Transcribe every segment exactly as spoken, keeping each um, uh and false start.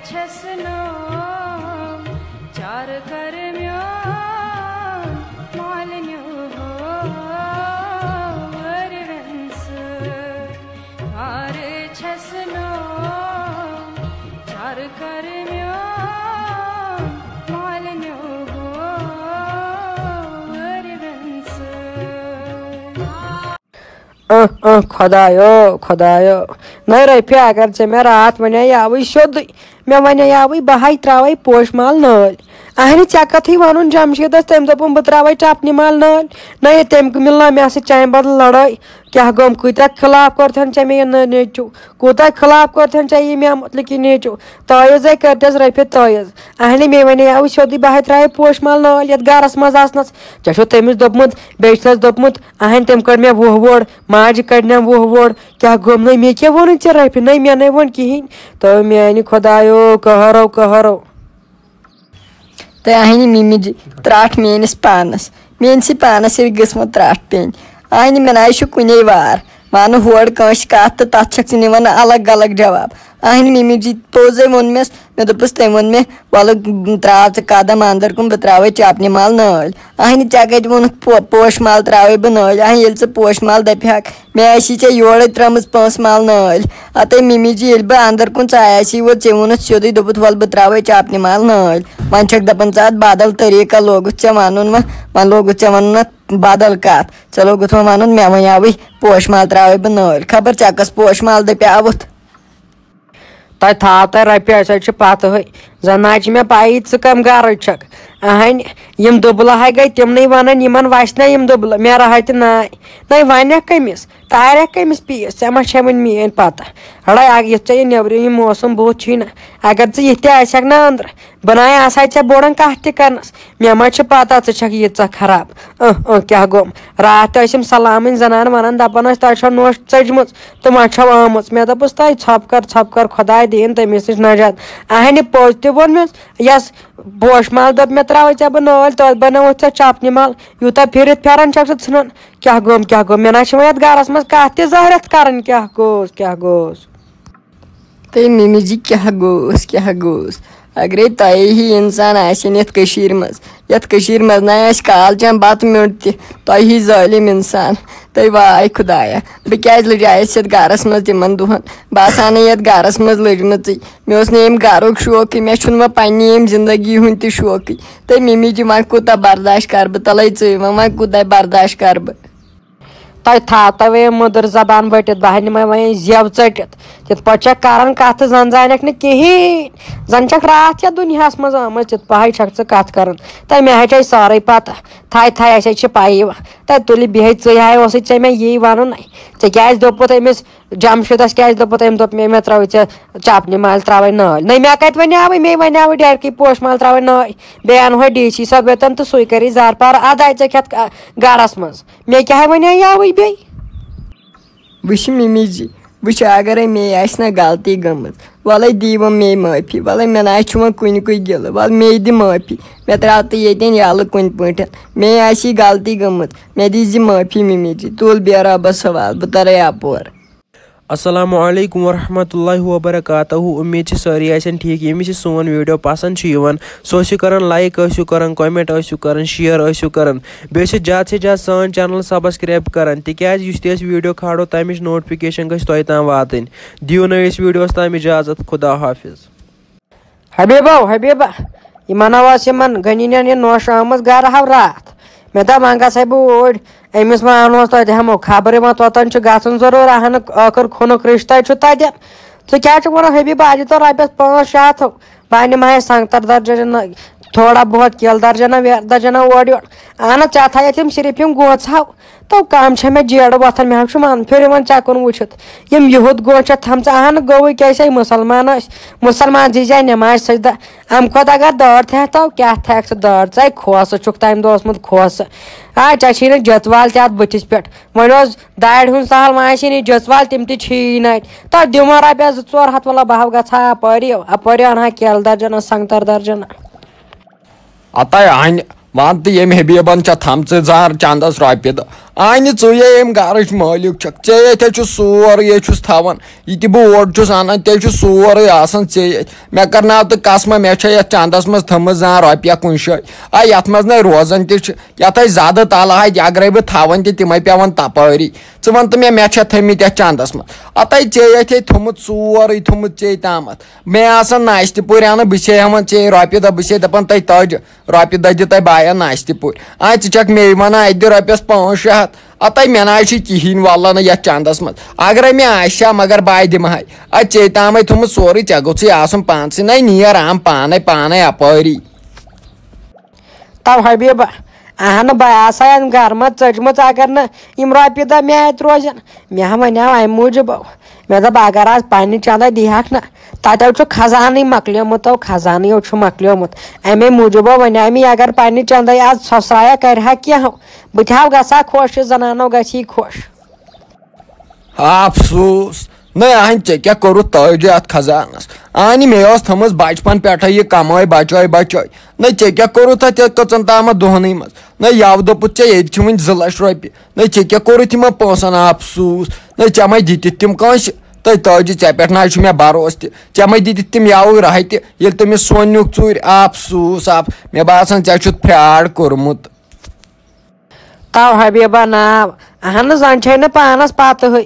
چھَس ناو چارٕ کر میون مالنیو ہور وٮ۪نسہٕ۔ وارٕ چھَس ناو چارٕ کر میون مالنیو ہور وٮ۪نسہٕ۔ اہ اہ خۄدایو، خۄدایو۔ نہ رفیع، اگر ژےٚ مےٚ راتھ ونے یاوٕے سیوٚدُے، مےٚ ونے یاوٕے بہٕ ہاے تراوے پوش مال نٲلۍ۔ اہنہِ، ژےٚ کتھٕے ونُن جمشیدس، تٔمۍ دوٚپُن بہٕ تراوے چپنہِ مال نٲلۍ۔ نہ یہِ تٔمۍ مِلنا مےٚ سۭتۍ چانہِ بدلہٕ لڑٲے۔ کیاہ گوٚم، کۭتیاہ خلاف کوٚرتھن ژےٚ مےٚ یہِ نٔے نیٚچو، کوٗتاہ خلاف کوٚرتھن ژےٚ یہِ مےٚ مطلب کہِ نیٚچو۔ تٲیٖز ہے کٔرتس رفیع تٲیٖز۔ اہنہِ، مے ونے یاوٕے سیوٚدُے بہٕ ہاے تراوے پوش مال نٲلۍ یتھ گرس منٛز آسنس۔ ژےٚ چھُو تٔمِس دوٚپمُت، بیٚیہِ چھُس دوٚپمُت، اہنہِ، تٔمۍ کٔڑ مےٚ وُہ ووڑ، ماجہِ کڑنم وُہ ووڑ۔ کیٛاہ گوٚم نَے؟ مےٚ کیٛاہ ووٚنُے ژےٚ رۄپیہِ؟ نَے مےٚ نَے ووٚن کِہیٖنۍ۔ تو میٛانہِ خۄدایو، قہرو، قہرو۔ تہٕ اہنہِ مِمِجہِ ترٛٹھ میٛٲنِس پانس، میٛٲنسٕے پانس ییٚلہِ گٔژھمٕژ ترٛٹھ پیٚنۍ۔ اہنہِ مےٚ نَے چھُ کُنے وار، وَنہٕ ہورٕ کٲنٛسہِ کَتھ تہٕ تَتھ چھَکھ ژٕ نِوان الگ الگ جواب۔ اہنہِ مِمِجہِ پوٚزے ووٚن مےٚ، مےٚ دوٚپُس، تٔمۍ ووٚن مےٚ، وَلہٕ ترٛاو ژٕ قدم اندر کُن، بہٕ ترٛاوَے چپنہِ مال نٲلۍ۔ اہنہِ ژےٚ کتہِ ووٚنُتھ پو-، پوش مال ترٛاوَے بہٕ نٲلۍ؟ اہنہِ ییٚلہِ ژٕ پوش مال دپہِ ہاکھ، مےٚ آسی ژےٚ یورے ترٲمٕژ پونٛسہٕ مال نٲلۍ۔ اتے مِمی جی، ییٚلہِ بہٕ اندر کُن ژایاسی ووت، ژےٚ ووٚنُتھ سیوٚدُے، دوٚپُتھ، وَلہٕ بہٕ ترٛاوَے چپنہِ مال نٲلۍ۔ وۄنۍ چھکھ دپان ژٕ اتھ بدل طریٖقہ لوگُتھ ژےٚ ونُن وۄنۍ، وۄنۍ لوگُتھ ژےٚ ونُن اتھ بدل کتھ۔ ژےٚ لوگُتھ وۄنۍ ونُن مےٚ وۄنۍ یاوٕے پوش مال ترٛاوَے بہٕ نٲلۍ۔ خبر ژےٚ کۄس پوش مال دپیاوُتھ؟ تۄہہِ تھاو تۄہہِ رۄپیہِ، أسۍ حظ چھِ پتہٕ ہٕے۔ زن نہ حظ چھِ مےٚ پَیی ژٕ کَم گرٕچ چھَکھ۔ اہنۍ، یِم دُبلہٕ ہاے گٔے تِمنٕے وَنان، یِمن وَسہِ نہ یِم دُبلہٕ، مےٚ رہا تہِ ناے۔ نَے وَنکھ کٔمِس؟ تارٮ۪کھ کٔمِس پیٖس؟ ژےٚ ما چھےٚ وۄنۍ میٛٲنۍ پَتہ؟ ہڑے اَکھ یُتھ ژےٚ یہِ نیٚبرِم یہِ موسم بُتھ چھُے نہ، اگر ژٕ یِتھ تہِ آسٮ۪کھ نہ أنٛدرٕ، بہٕ ناے آسہٕ ہا ژےٚ بوٚڑَن کَتھ تہِ کَرنَس۔ مےٚ ما چھِ پَتہ ژٕ چھَکھ ییٖژاہ خراب۔ اۭں، اۭں، کیٛاہ گوٚم؟ راتھ تہِ ٲسِم سلامٕنۍ زنان وَنان، دَپان ٲسۍ، "تۄہہِ چھو نوٚش ژٔجمٕژ تہٕ وۄنۍ چھو آمٕژ۔" مےٚ دوٚپُس، "تۄہہِ ژھۄپہٕ کر، ژھۄپہٕ کر، خۄداے دِیِن تٔمِس نِش نجات۔" اہنہِ پوٚز تہِ ووٚن مےٚ، یَس پوش مال دوٚپ مےٚ، "ترٛاوَے ژےٚ بہٕ نٲلۍ، توتہِ بنٲوٕتھ ژےٚ چپنہِ مال، یوٗتاہ پھِرِتھ پھٮ۪رن چھَکھ ژٕ ژھٕنان۔" کیٛاہ گوٚم، کیٛاہ گوٚم؟ مےٚ نہ چھِ وۄنۍ یَتھ گَرَس منٛز کَتھ تہِ زٲہرَتھ کَرٕنۍ، کیٛاہ گوٚوس، کیٛاہ گوٚوس؟ تہٕ مِمی جی، کیٛاہ گوٚوس، کیٛاہ گوٚوس؟ اگرے تۄہے ہی انسان آسہِ ہے نہٕ یتھ کٔشیٖرِ منٛز، یتھ کٔشیٖرِ منٛز نہ آسہِ کال چٮ۪وان بتہٕ میوٚنٛڈ تہِ، تۄہہِ ہی ظٲلِم انسان۔ تہٕ واے خۄدایا، بہٕ کیٛازِ لٔجایس یتھ گرس منٛز تِمن دۄہن؟ بہٕ آسہٕ ہا نہٕ یتھ گرس منٛز لٔجمٕژٕے۔ مےٚ اوس نہٕ ییٚمہِ گرُک شوقٕے، مےٚ چھُنہٕ وۄنۍ پننہِ ییٚمہِ زندگی ہُنٛد تہِ شوقٕے۔ تہٕ مِمی جی، وۄنۍ کوٗتاہ برداش کرٕ بہٕ؟ تلے ژٕے وۄنۍ، وۄنۍ کوٗتاہ برداش کرٕ بہٕ؟ تۄہہِ تھاو تۄہہِ وۄنۍ مٔدٕر زبان ؤٹِتھ، بہٕ ہا نِمَے وۄنۍ زٮ۪و ژٔٹِتھ۔ تِتھ پٲٹھۍ چھَکھ کران کَتھ تہٕ زَن زانٮ۪کھ نہٕ کِہیٖنۍ۔ زَن چھَکھ راتھ یَتھ دُنیاہَس منٛز آمٕژ، تِتھ پٲٹھۍ چھَکھ ژٕ کَتھ کران۔ تہٕ مےٚ ہَے چھَے سٲرٕے پَتہ۔ تھاے تھاے، اَسہِ ہے چھِ پَیی۔ تہٕ تُلہِ بِہِتھ ژٕے ہاے اوسُے ژےٚ مےٚ یی وَنُن۔ ژےٚ کیٛازِ دوٚپُتھ أمِس جمشیٖدَس، کیٛازِ دوٚپُتھ أمۍ؟ دوٚپ مےٚ، مےٚ ترٛٲوٕے ژےٚ چَپنہِ مالہِ ترٛاوَے نٲلۍ۔ نَے مےٚ کَتہِ وَنیٛاوٕے، مے وَنیٛاوٕے ڈٮ۪رکٕے پوش مال ترٛاوَے نٲلۍ۔ بیٚیہِ اَنہٕ ہا ڈی سی صٲب یوٚتَن تہٕ سُے کَرِ زارٕ پار اَدَے ژےٚ کھٮ۪تھ گَرَس منٛز۔ مےٚ کیٛاہ وَنیٛاوٕے بیٚیہِ؟ وٕچھ مِمی جی، وٕچھ، اگرے مے آسہِ نہ غلطی گٔمٕژ، وَلَے دی وۄنۍ مے معٲفی، وَلَے مےٚ نہ چھُ وۄنۍ کُنہِ کُے گِلہٕ، وَلہٕ مے دِ معٲفی، مےٚ ترٛاو تہٕ ییٚتٮ۪ن یَلہٕ کُنہِ پٲٹھۍ، مے آسہِ یہِ غلطی گٔمٕژ، مےٚ دیٖزِ معٲفی مِمی جی، تُل بیٚہہ رۄبَس حوالہٕ، بہٕ تَرَے اَپور۔ السلام علیکم ورحمۃ اللہ وبرکاتہ۔ امید چھِ سٲری آسن ٹھیٖک۔ ییٚمِس یہِ سون ویٖڈیو پسنٛد چھُ یِوان، سُہ ٲسِو کران لایک، ٲسِو کران کمنٹ، ٲسِو کران شیئر، ٲسِو کران، بیٚیہِ ٲسِو زیادٕ سے زیادٕ سٲنۍ چینل سبسکرایب کران، تِکیازِ یُس تہِ أسۍ ویٖڈیو کھالو، تَمِچ نوٹفکیشن گژھِ تۄہہِ تام واتٕنۍ۔ دِیِو نٔوِس ویٖڈیوَس تام اجازت۔ خدا حافظ۔ حبیبو، حبیبہ، یِمن ہا ٲس یِمن غنی نٮ۪ن یہِ نوش آمٕژ گرٕ ہاو راتھ۔ مےٚ دوٚپ، وۄنۍ گژھے بہٕ اوٗرۍ، أمِس ما اَنہوس تۄتہِ ہٮ۪مو خبرٕ، وۄنۍ توٚتن چھُ گژھُن ضروٗر، اہنُک ٲخٕر خوٗنُک رِشتَے چھُ تَتہِ۔ ژٕ کیٛاہ چھُکھ وَنان حبیبہ، اَتہِ تہٕ رۄپیَس پانٛژھ شےٚ ہَتھ، بہٕ اَنہٕ مَہَے سنٛگتر درجن، تھوڑا بہت کیلہٕ درجنا، ویلہٕ درجنا اورٕ یورٕ۔ اہن حظ، ژےٚ تھایَتھ یِم صرف یِم گوژھ ہاو۔ تو کم چھےٚ مےٚ جیڑٕ وۄتھان، مےٚ حظ چھُ من پھِرِ وۄنۍ ژےٚ کُن وٕچھِتھ۔ یِم یِہُد گوٚو چھےٚ تھٲمژٕ، اہن گوٚوٕے کیٛاہ سا، یہِ مُسلمان ٲسۍ، مُسلمان زی زِ نٮ۪مازِ سجدہ۔ اَمہِ کھۄتہٕ اگر دٲر تھایَتھ تو، کیٛاہ تھایَکھ ژٕ دٲر؟ ژَے کھوسہٕ چھُکھ تَمہِ دۄہ اوسمُت کھوسہٕ۔ آ، ژےٚ چھِی نہٕ جٔژ وال تہِ اَتھ بٕتھِس پٮ۪ٹھ۔ وۄنۍ اوس دارِ ہُنٛد سہل، وۄنۍ آسہِ ہے نہٕ جٔژ وال، تِم تہِ چھِی نہٕ اَتہِ۔ تَتھ دِمو رۄپیَس زٕ ژور ہَتھ، وَلہ بہٕ ہاو گژھٕ ہا اَپٲری، اَپٲری اَنہٕ ہا کیلہٕ درجنا، سنٛگتر درجنا۔ اَتَے اَنہِ وَن تہٕ ییٚمۍ حبیٖبَن چھےٚ تھامژٕ زار چندَس رۄپیہِ دَہ۔ آ، نہِ ژٕے ییٚمہِ گرٕچ مٲلِک چھکھ، ژےٚ ییٚتھے چھُ سورُے، ییٚتہِ چھُس تھاوان۔ یہِ تہِ بہٕ اورٕ چھُس انان، تیٚلہِ چھُ سورُے آسان ژےٚ ییٚتھۍ۔ مےٚ کرناو تہٕ قسمہ، مےٚ چھےٚ یتھ چندس منٛز تھٲمٕژ زانٛہہ رۄپیہ کُنہِ جایہِ۔ آ، یتھ منٛز نے روزان تہِ چھِ، یتھ ہے زیادٕ تلہٕ ہا تہِ، اگرے بہٕ تھاوان تہِ، تِمے پٮ۪وان تپٲری۔ ژٕ ون تہٕ مےٚ، مےٚ چھےٚ تھٲمٕتۍ یتھ چندس منٛز؟ اتھے ژےٚ ییٚتھے تھوٚمُت، سورُے تھوٚمُت ژےٚ تامتھ۔ مےٚ آسان ناشتہٕ پوٗرۍ انان، بہٕ چھے ہٮ۪وان ژےٚ رۄپیہِ دہ، بہٕ چھے دپان تۄہہِ تاجہِ۔ رۄپیہِ دہ دِ تۄہہِ باین ناشتہٕ پوٗرۍ۔ آ، ژٕ چھکھ مے ونان، اتہِ دِ رۄپیس پانٛژھ شےٚ ہتھ۔ اتھے مےٚ نہ حظ چھُ کِہینۍ واللہ نہٕ یتھ چندس منٛز۔ اگرے مےٚ آسہِ ہا، مگر بہٕ دِمہٕ ہاے۔ اتہِ ژےٚ تامے تھوٚمُت سورُے، ژےٚ گوٚژھُے آسُن پانسٕے۔ نہ نیر عام پانے، پانے اپٲری۔ تو حبیبہ، اہن بہٕ آسہٕ ہا گرٕ منٛز ژٔجمٕژ، اگر نہٕ یِم رۄپیہِ دہ مےٚ اتہِ روزن۔ مےٚ ہا ونیاو امہِ موٗجوٗب، مےٚ دوٚپ اگر آز پننہِ چندے دِیہکھ نہ، تتیو چھُ خزانٕے مۄکلیومُت، تو خزانٕے چھُ مۄکلیومُت۔ امے موٗجوٗب ونیاو مےٚ، اگر پننہِ چندے آز سۄسرایا کرِ ہا کینٛہہ، بہٕ تہِ ہا گژھٕ ہا خۄش، یہِ زنانو گژھِ ہی خۄش۔ افسوس۔ نہ اہن، ژےٚ کیٛاہ کوٚرُتھ تٲجہِ اتھ خزانس؟ اہنہِ مےٚ ٲس تھٲمٕژ بچپن پٮ۪ٹھے یہِ کمٲے بچٲے بچٲے۔ نہ ژےٚ کیٛاہ کوٚرُتھ اتھ یتھ کٔژن تامتھ دۄہنٕے منٛز؟ نہ یوٕ دوٚپُتھ ژےٚ ییٚتہِ چھِ وُنہِ زٕ لچھ رۄپیہِ۔ نہ ژےٚ کیٛاہ کوٚرُتھ یِمن پونٛسن؟ افسوس۔ نہ ژےٚ ما دِتِتھ تِم کٲنٛسہِ؟ تہٕ تٲجہِ، ژےٚ پٮ۪ٹھ نہ حظ چھُ مےٚ بھروسہٕ تہِ۔ ژےٚ ما دِتِتھ تِم یوٕ راہہِ تہِ، ییٚلہِ تٔمِس سۄن نیُک ژوٗرِ؟ افسوس، اف، مےٚ باسان ژےٚ چھُتھ فراڈ کوٚرمُت۔ تو حبیبہ ناو۔ اہن زن چھے نہٕ پانس پتہٕے۔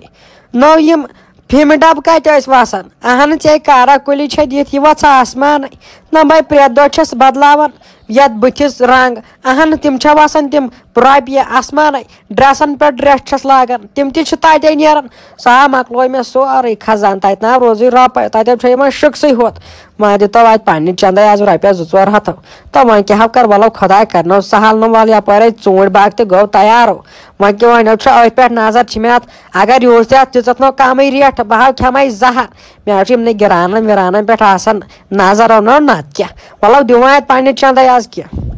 نو یِم فیمہِ ڈبہٕ کتہِ ٲسۍ وسان؟ اہن ژے کارا کُلی چھے دِتھ یہِ وژھ آسمانٕے۔ نہ بے پرٛٮ۪تھ دۄہ چھس بدلاوان یتھ بٕتھِس رنگ۔ اہن تِم چھےٚ وسان تِم رۄپیہِ آسمانٕے۔ ڈریسن پٮ۪ٹھ ڈریس چھس لاگان، تِم تہِ چھِ تتے نیران۔ سا مۄکلوو مےٚ سورُے خزانہٕ، تتہِ نہ روزٕے رۄپے، تتٮ۪ن چھےٚ یِوان شِکسٕے ہوت۔ وۄنۍ دِتو اتہِ پننہِ چندے از رۄپیس زٕ ژور ہتھ۔ تہٕ وۄنۍ کیٛاہ ہو کر، ولو خۄداے کرنو سہل نہٕ، ول یپٲرۍ ژوٗنٛٹھۍ باغ تہِ گوٚو تیار۔ وۄنۍ کیٛاہ، وۄنۍ چھُ أتھۍ پٮ۪ٹھ نظر، چھِ مےٚ اتھ، اگر یوٗز تہِ اتھ دِژٕتھ نو کمٕے ریٹ، بہٕ ہاو کھٮ۪مے زہر۔ مےٚ حظ چھُ یِمنٕے گِرانن وِرانن پٮ۪ٹھ آسان نظر، نو نتہٕ کیٛاہ۔ ولو دِمو اتہِ پننہِ چندے از کینٛہہ۔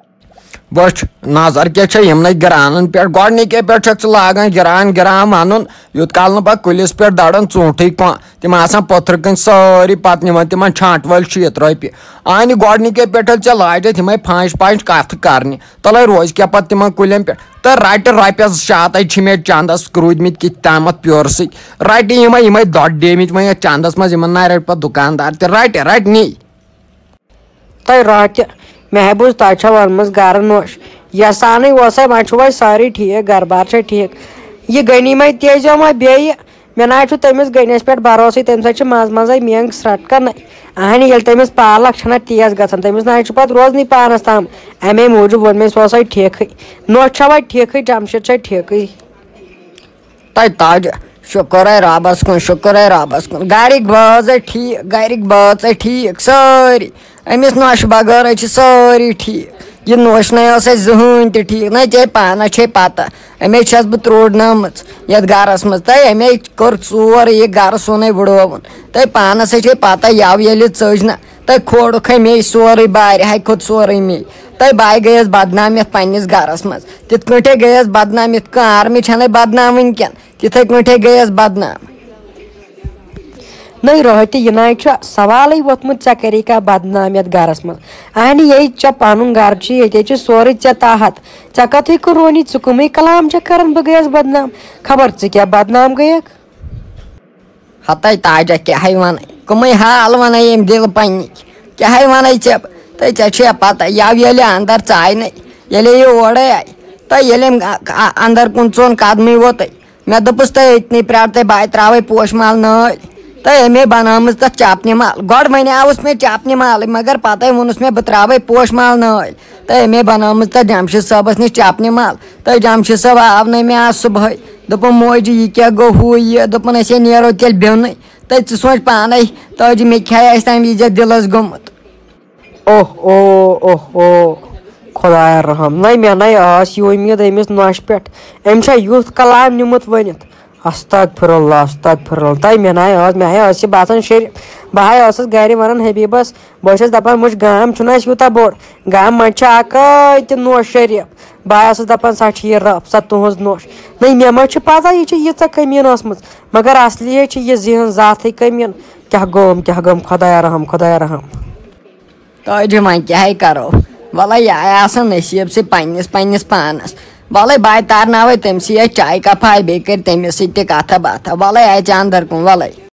وٕچھ، نظر کیٛاہ چھےٚ یِمنٕے گِرانن پٮ۪ٹھ۔ گۄڈٕنِکے پٮ۪ٹھ چھکھ ژٕ لاگان گِران گِران ونُن، یوٗت کال نہٕ پتہٕ کُلِس پٮ۪ٹھ دَرَن ژوٗنٛٹھٕے کانٛہہ۔ تِم آسان پٔتھرٕ کٔنۍ سٲری، پَتہٕ نِوان تِمَن چھانٛٹہٕ وٲلۍ شیٖتھ رۄپیہِ۔ اَہنہِ گۄڈٕنِکے پٮ۪ٹھ ژےٚ لاجَتھ یِمَے پھانٛچہِ پھانٛچہِ کَتھٕ کَرنہِ، تَلَے روزِ کیٛاہ پَتہٕ تِمَن کُلٮ۪ن پٮ۪ٹھ؟ تہٕ رَٹہِ رۄپیَس زٕ شےٚ ہَتَے چھِ مےٚ چَندَس روٗدۍمٕتۍ کِتھ تامَتھ پیورٕ سۭتۍ۔ رَٹہِ یِمَے، یِمَے دۄدٕ ڈیمٕتۍ وۄنۍ یَتھ چَندَس منٛز، یِمَن نہ رَٹہِ پَتہٕ دُکاندار تہِ۔ رَٹہِ، رَٹہِ نی۔ تۄہہِ راتھ تہِ مےٚ ہا بوٗز تۄہہِ چھو ؤنمٕژ گرٕ نوش۔ یژھانٕے اوسے، وۄنۍ چھُو وۄنۍ سٲری ٹھیٖک، گرٕ بار چھا ٹھیٖک؟ یہِ غنی ما تیزیو وۄنۍ بیٚیہِ؟ مےٚ نہ حظ چھُ تٔمِس غنیَس پٮ۪ٹھ بھروسٕے، تٔمِس حظ چھِ منٛزٕ منٛزَے مینٛگ ژھرٛٹکان۔ اہنہِ ییٚلہِ تٔمِس پالک چھَنہ تیز گژھان، تٔمِس نہ حظ چھُ پَتہٕ روزنٕے پانَس تام۔ اَمے موٗجوٗب ووٚن مےٚ، سُہ اوسَے ٹھیٖکھٕے۔ نوش چھا وۄنۍ ٹھیٖکھٕے، جمشید چھا ٹھیٖکھٕے؟ تۄہہِ تاج، شُکر ہے رۄبَس کُن، شُکر ہے رۄبَس کُن۔ گَرِکۍ بٲژ ہے ٹھیٖک، گَرِکۍ بٲژ ہے ٹھیٖک سٲری۔ أمِس نۄشہِ بغٲر ہے چھِ سٲری ٹھیٖک۔ یہِ نوش نَے ٲس اَسہِ زٕہٕنۍ تہِ ٹھیٖک، نہ ژےٚ پانَس چھے پَتہ۔ أمے چھَس بہٕ ترٛوڑنٲمٕژ یَتھ گَرَس منٛز۔ تہٕ أمے کوٚر ژور، یہِ گَرٕ سونُے وُڑووُن۔ تۄہہِ پانَس ہے چھے پَتہ، یَوٕ ییٚلہِ ژٔج نہ، تۄہہِ کھوڑُکھ ہے مے سورُے، بارِ ہاے کھوٚت سورُے مے۔ تۄہہِ بایہِ گٔیَس بدنام یَتھ پنٛنِس گَرَس منٛز۔ تِتھ کٲٹھۍ ہے گٔیَس بدنام، یِتھ کٔنۍ آرمی چھَنَے بدنام وٕنۍکٮ۪ن، تِتھَے کٲٹھۍ ہے گٔیَس بدنام۔ نٔے رٲتۍ تہِ یہِ نَے چھُ سوالٕے ووٚتھمُت، ژےٚ کَرے کانٛہہ بدنام یَتھ گَرَس منٛز؟ اَہنہِ یے ژےٚ پَنُن گَرٕ چھُ، ییٚتے چھُ سورُے ژےٚ تاہَتھ۔ ژےٚ کَتھٕے کُن رونی، ژٕ کٕمٕے کلام چھَکھ کَران بہٕ گٔیَس بدنام؟ خبر ژٕ کیٛاہ بدنام گٔیَکھ؟ ہتاے تاجا، کیٛاہ ہے وَنَے؟ کٕمٕے حال وَنَے ییٚمۍ دِلہٕ پنٛنِکۍ؟ کیٛاہ ہے وَنَے ژےٚ؟ تہٕ ژےٚ چھےٚ پَتہ، یَوٕ ییٚلہِ اَندَر ژایہِ نَے، ییٚلے یہِ اورَے آیہِ، تہٕ ییٚلہِ أمۍ اَ-، اَ-، اَندَر کُن ژوٚن قدمٕے ووتُے، مےٚ دوٚپُس، تہٕ أتنٕے پرٛار تہٕ بہٕ تہِ ترٛاوَے پوشہٕ مال نٲلۍ۔ تہٕ أمۍ ہے بنٲومٕژ تَتھ چَپنہِ مال۔ گۄڈٕ وَنیٛاوُس مےٚ چَپنہِ مالٕے، مگر پَتَے ووٚنُس مےٚ، بہٕ ترٛاوَے پوشہٕ مال نٲلۍ۔ تہٕ أمۍ ہے بنٲومٕژ تَتھ جمشید صٲبَس نِش چَپنہِ مال۔ تہٕ جمشید صٲب آو نہٕ مےٚ آز صُبحٲے۔ دوٚپُن، موجی، یہِ کیٛاہ گوٚو، ہُہ یہِ؟ دوٚپُن، أسۍ ہے نیرو تیٚلہِ بیوٚنٕے۔ تہٕ ژٕ سونٛچ پانَے، تاجہِ، مےٚ کیٛاہ آسہِ تَمہِ وِزِ دِلَس گوٚمُت۔ اوہ، اوہ، اوہ، اوہ، خۄدایا رحم۔ نَے مےٚ نَے ٲس یہِ اُمید أمِس نۄشہِ پٮ۪ٹھ۔ أمۍ چھا یُتھ کلام نیُمُت ؤنِتھ؟ استغفر اللہ، استغفر اللہ۔ تَے مےٚ نَے ٲس، مےٚ ہے ٲس یہِ باسان شیٚرِ۔ بہٕ ہے ٲسٕس گَرِ وَنان حبیٖبَس، بہٕ چھَس دَپان، وٕچھ، گام چھُنہٕ اَسہِ یوٗتاہ بوٚڑ، گامہٕ منٛز چھِ اَکٲے تہِ نوش شریٖف۔ بہٕ آیوسُس دَپان، سۄ چھِ یہِ رٔف، سۄ تُہٕنٛز نوش۔ نٔے، مےٚ ما چھِ پَتہ یہِ چھِ ییٖژاہ کٔمیٖن ٲسمٕژ، مگر اَصلی ہے چھِ یہِ ذہن ذاتھٕے کٔمیٖن۔ کیٛاہ گوٚوم، کیٛاہ گوٚوم، خۄدایا رحم، خۄدایا رحم۔ تاجہِ، وۄنۍ کیٛاہ ہے کَرو؟ وَلہٕ، یہِ آے آسان نصیٖب سۭتۍ پنٛنِس پنٛنِس پانَس۔ وَلَے بہٕ تارناوَے تٔمۍ سٕے اَتھ چایہِ کَپھا، بیٚیہِ کَرِ تٔمِس سۭتۍ تہِ کَتھا باتھا۔ وَلَے اَژِ اَندَر کُن، وَلَے۔